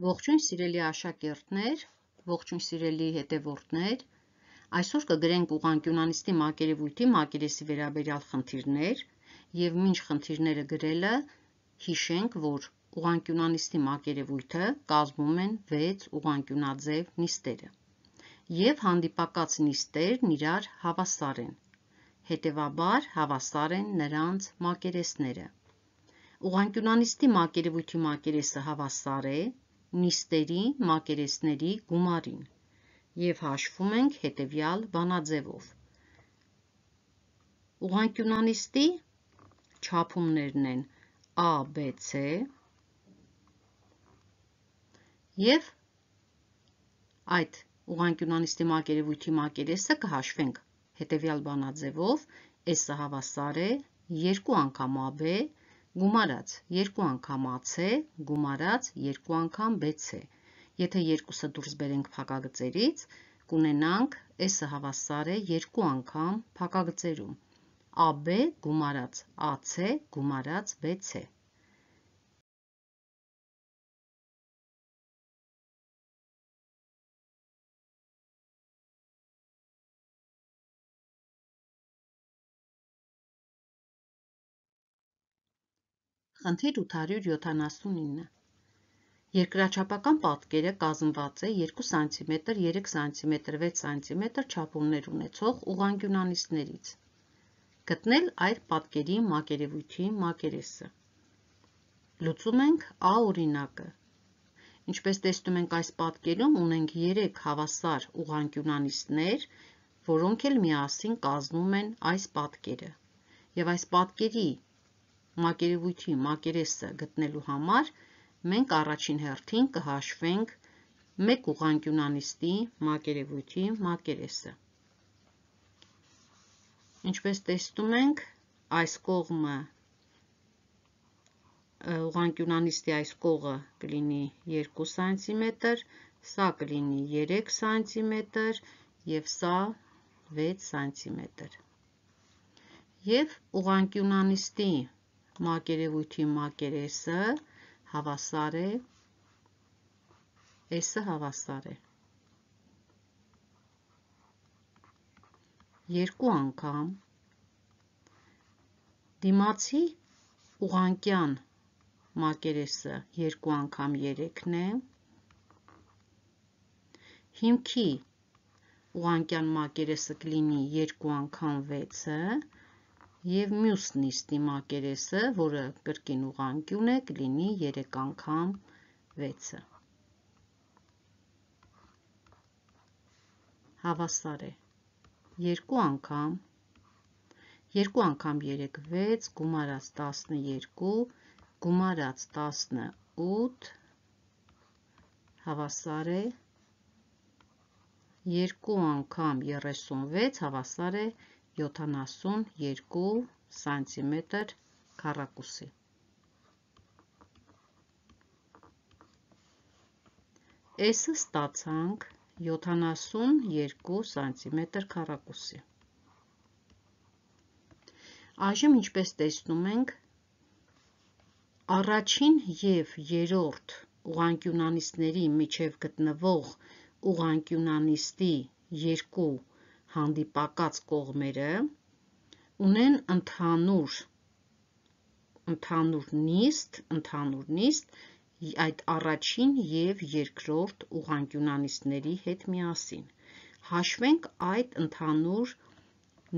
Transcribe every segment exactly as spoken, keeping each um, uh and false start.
Ողջույն սիրելի աշակերտներ, ողջույն սիրելի հետևորդներ, այսօր կգրենք ուղղանկյունանիստի մակերևույթի մակերեսի վերաբերյալ խնդիրներ և մինչ խնդիրները գրելը հիշենք, որ ուղղանկյունանիստի մակերևույթը կազմում են վեց ուղղանկյունաձև նիստերը և հանդիպակաց նիստերն իրար հավասար են, հետևաբար հավասար են նրանց մակերեսները։ Ուղղանկյունանիստի մակերևույթի մակերեսը հավասար է նիստերի մակերեսների գումարին և հաշվում ենք հետևյալ բանաձևով։ Ուղղանկյունանիստի չափումներն են A, B, C և այդ ուղղանկյունանիստի մակերևույթի մակերեսը կհաշվենք հետևյալ բանաձևով. S-ը հավասար է երկու անգամ A B գումարած երկու անգամ A C գումարած երկու անգամ B C։ Եթե երկուսը դուրս բերենք փակագծերից, կունենանք S-ը հավասար է երկու անգամ փակագծերում A B գումարած A C գումարած B C։ Խնդիր ութ հարյուր յոթանասունինը։ Երկրաչափական պատկերը կազմված է երկու սանտիմետր, երեք սանտիմետր, վեց սանտիմետր չափումներ ունեցող ուղղանկյունանիստներից։ Գտնել այդ պատկերի մակերևույթի մակերեսը։ Լուծում ենք A օրինակը։ Ինչպես տեսնում ենք, այս պատկերում ունենք երեք հավասար ուղղանկյունանիստներ, որոնք էլ միասին կազմում են այս պատկերը։ Եվ այս պատկերի մակերևույթի մակերեսը գտնելու համար մենք առաջին հերթին կհաշվենք մեկ ուղղանկյունանիստի մակերևույթի մակերեսը։ Ինչպես տեսնում ենք, այս կողմը ուղղանկյունանիստի այս կողը կլինի երկու սանտիմետր, սա կլինի երեք սանտիմետր և սա վեց սանտիմետր։ Եվ ուղղանկյունանիստի մակերևույթի մակերեսը հավասար է, S-ը հավասար է երկու անգամ դիմացի ուղղանկյան մակերեսը երկու անգամ երեքն է, հիմքի ուղղանկյան մակերեսը կլինի երկու անգամ վեցը և մյուս նիստի մակերեսը, որը կրկին ուղղանկյուն է, կլինի երեք անգամ վեցը։ Հավասար է երկու անգամ երկու անգամ երեք վեց գումարած տասնյոթ գումարած տասնութ հավասար է երկու անգամ երեսունվեց հավասար է յոթանասունյոթ սանտիմետր քառակուսի։ S-ը ստացանք յոթանասունյոթ սանտիմետր քառակուսի։ Այժմ ինչպես տեսնում ենք, առաջին և երրորդ ուղղանկյունանիստների միջև գտնվող ուղղանկյունանիստի երկու հանդիպակաց կողմերը ունեն ընդհանուր ընդհանուր նիստ, ընդհանուր նիստ այդ առաջին և երկրորդ ուղղանկյունանիստների հետ միասին։ Հաշվենք այդ ընդհանուր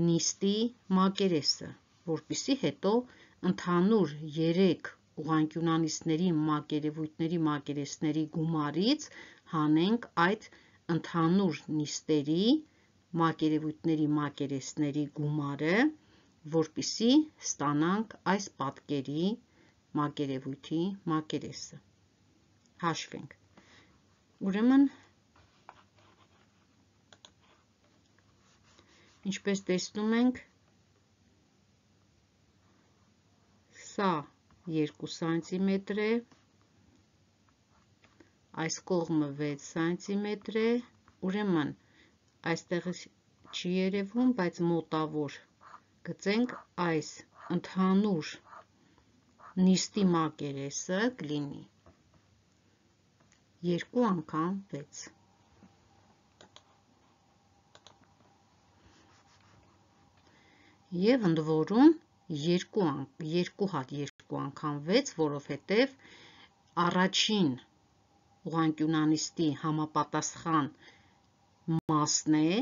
նիստի մակերեսը, որպեսզի հետո ընդհանուր երեք ուղղանկյունանիստների մակերևույթների մակերեսների գումարից հանենք այդ ընդհանուր նիստերի մակերևույթների մակերեսների գումարը, որպեսզի ստանանք այս պատկերի մակերևույթի մակերեսը։ Հաշվենք։ Ուրեմն, ինչպես տեսնում ենք, սա երկու սանտիմետր է, այս կողմը վեց սանտիմետր է, ուրեմն այստեղ չի երևում, բայց մոտավոր գծենք այս ընդհանուր նիստի մակերեսը կլինի երկու անգամ վեց։ Եվ ընդ որում երկու, երկու հատ երկու անգամ վեց, որովհետև առաջին ուղղանկյունանիստի համապատասխան մասն է,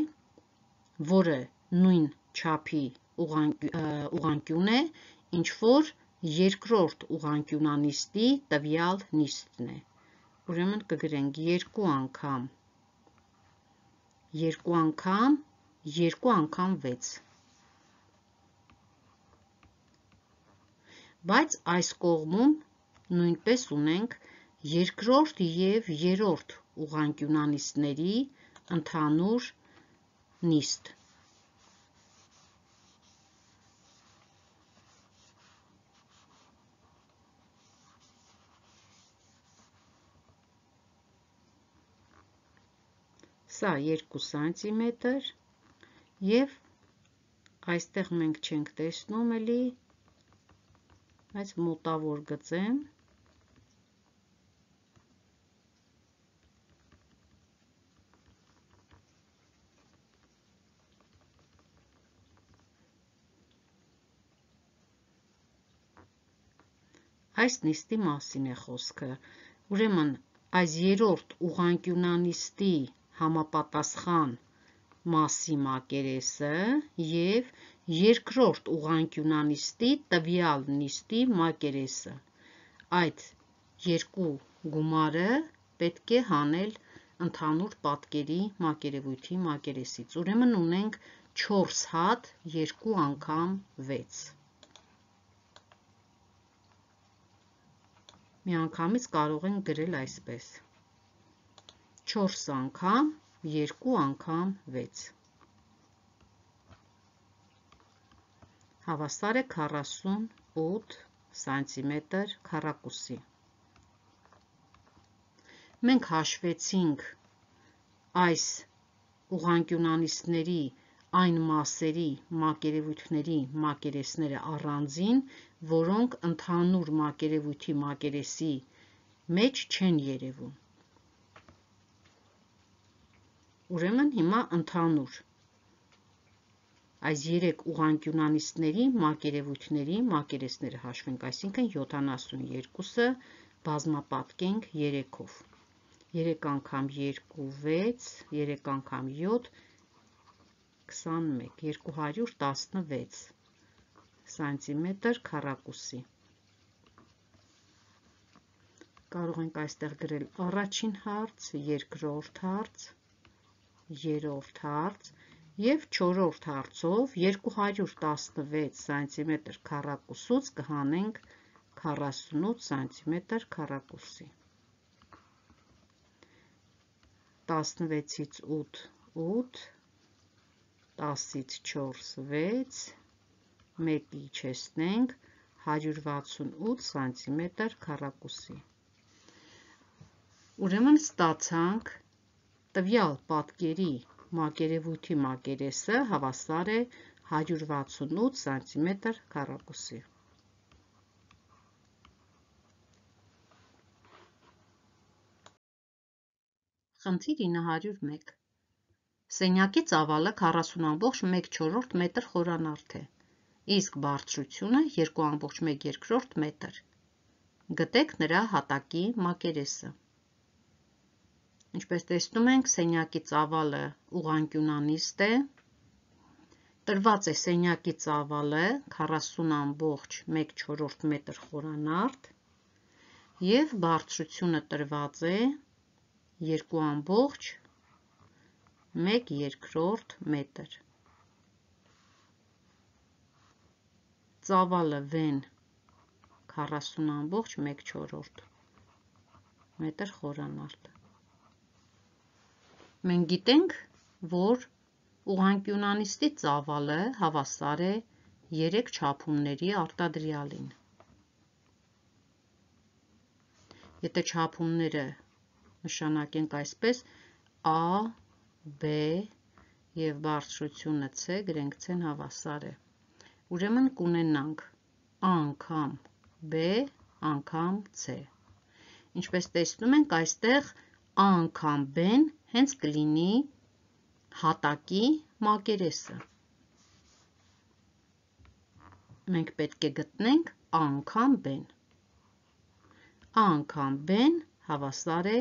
որը նույն չափի ուղղանկյուն է, ինչ որ երկրորդ ուղղանկյունանիստի տվյալ նիստն է։ Ուրեմն կգրենք երկու անգամ, երկու անգամ, երկու անգամ վեց։ Բայց այս կողմում նույնպես ունենք երկրորդ և երրորդ ուղղանկյունանիստների ընդհանուր նիստ։ Սա երկու սանտիմետր և այստեղ մենք չենք տեսնում էլի, բայց մոտավոր գծեմ, այս նիստի մասին է խոսքը։ Ուրեմն այս երրորդ ուղղանկյունանիստի համապատասխան մասի մակերեսը և երկրորդ ուղղանկյունանիստի տվյալ նիստի մակերեսը։ Այդ երկու գումարը պետք է հանել ընդհանուր պատկերի մակերևույթի մակերեսից։ Ուրեմն ունենք չորս հատ երկու անգամ վեց։ Միանգամից կարող ենք գրել այսպես. չորս անգամ երկու անգամ վեց։ Հավասար է քառասունութ սանտիմետր քառակուսի։ Մենք հաշվեցինք այս ուղղանկյունանիստների այն մասերի մակերևույթների մակերեսները առանձին, որոնք ընդհանուր մակերևույթի մակերեսի մեջ չեն երևում։ Ուրեմն հիմա ընդհանուր այս երեք ուղղանկյունանիստների մակերևույթների մակերեսները հաշվենք, այսինքն յոթանասունյոթը բազմապատկենք երեքով։ երեք անգամ երկու վեց, երեք անգամ յոթ քսանմեկ, երկու հարյուր տասնվեց սանտիմետր քառակուսի։ Կարող ենք այստեղ գրել առաջին հարց, երկրորդ հարց, երրորդ հարց և չորրորդ հարցով երկու հարյուր տասնվեց սանտիմետր քառակուսուց կհանենք քառասունութ սանտիմետր քառակուսի։ տասնվեցից ութ, ութ, տասից չորս, վեց, մեկը իջեցնենք, հարյուր վաթսունութ սանտիմետր քառակուսի։ Ուրեմն ստացանք տվյալ պատկերի մակերևույթի մակերեսը հավասար է հարյուր վաթսունութ սանտիմետր քառակուսի։ Խնդիր ինը հարյուր մեկ։ Սենյակի ծավալը քառասուն ամբողջ մեկ չորրորդ մետր խորանարդ է, իսկ բարձրությունը երկու ամբողջ մեկ երկրորդ մետր։ Գտեք նրա հատակի մակերեսը։ Ինչպես տեսնում ենք, սենյակի ծավալը ուղղանկյունանիստ է։ Տրված է սենյակի ծավալը քառասուն ամբողջ մեկ չորրորդ մետր խորանարդ և բարձրությունը տրված է երկու ամբողջ մեկ երկրորդ մետր։ Ծավալը վեն քառասուն ամբողջ մեկ չորրորդ մետր խորանարդ։ Մենք գիտենք, որ ուղղանկյունանիստի ծավալը հավասար է երեք չափումների արտադրյալին։ Եթե չափումները նշանակենք այսպես A, B և բարձրությունը C, գրենք C-ն հավասար է։ Ուրեմն կունենանք A անգամ B անգամ C։ Ինչպես տեսնում ենք, այստեղ A անգամ B-ն հենց կլինի հատակի մակերեսը։ Մենք պետք է գտնենք A անգամ B-ն։ A անգամ B-ն հավասար է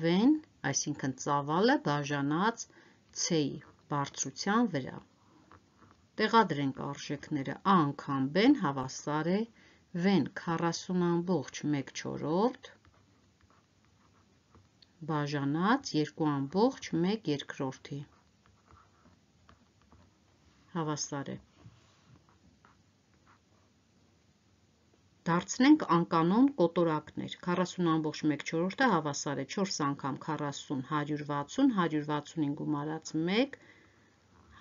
V-ն, այսինքն ծավալը բաժանած C-ի բարձրության վրա։ Տեղադրենք արժեքները, A անգամ B-ն հավասար է V-ն քառասուն ամբողջ մեկ չորրորդ բաժանած երկու ամբողջ մեկ երկրորդի հավասար է։ Դարձնենք անկանոն կոտորակներ, քառասուն ամբողջ մեկ չորրորդը հավասար է չորս անգամ քառասուն, հարյուր վաթսուն, հարյուր վաթսունին գումարած մեկ,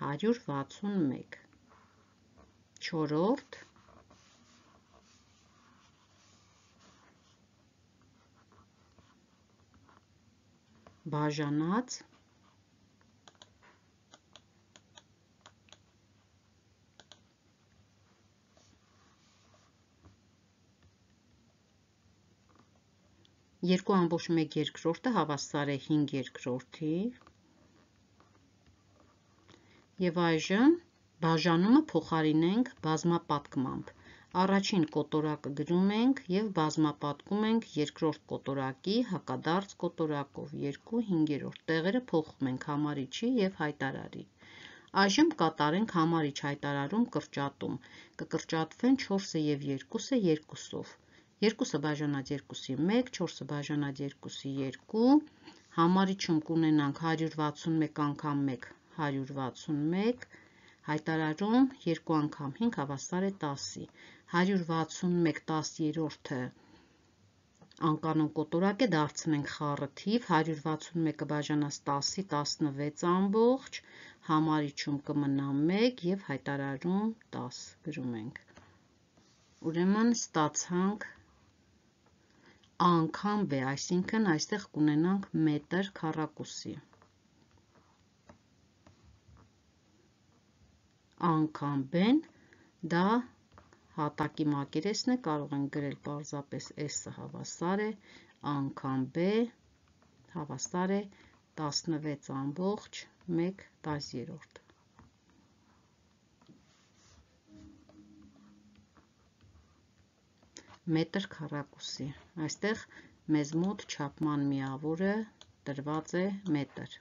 հարյուր վաթսուն մեկ, չորրորդ, բաժանած երկու ամբողջ մեկ երկրորդը հավասար է հինգ երկրորդի և այժմ բաժանումը փոխարինենք բազմապատկմամբ։ Առաջին կոտորակը գրում ենք և բազմապատկում ենք երկրորդ կոտորակի հակադարձ կոտորակով, երկու հինգերորդ, տեղերը փոխում ենք համարիչի և հայտարարի։ Այժմ կատարենք համարիչ հայտարարում կրճատում, կկրճատվեն չորսը և երկուսը երկուսով, երկուսը բաժանած երկուսի մեկ, չորսը բաժանած երկուսի երկու, համարիչում կունենանք հարյուր վաթսուն մեկ անգամ մեկ, հարյուր վաթսուն մեկ, հայտարարում երկու անգամ հինգ հավասար է տասի, հարյուր վաթսուն մեկ տասներորդը անկանոն կոտորակ է, դարձնենք խառը թիվ, հարյուր վաթսուն մեկը բաժանած տասի, տասնվեց ամբողջ, համարիչում կմնա մեկ և հայտարարում տաս գրում ենք։ Ուրեմն ստացանք A անգամ B, այսինքն այստեղ կունենանք մետր քառակուսի։ A անգամ B-ն դա հատակի մակերեսն է, կարող ենք գրել պարզապես S-ը հավասար է A անգամ B հավասար է տասնվեց ամբողջ մեկ տասներորդ։ Մետր քառակուսի, այստեղ մեզ մոտ չափման միավորը տրված է մետր։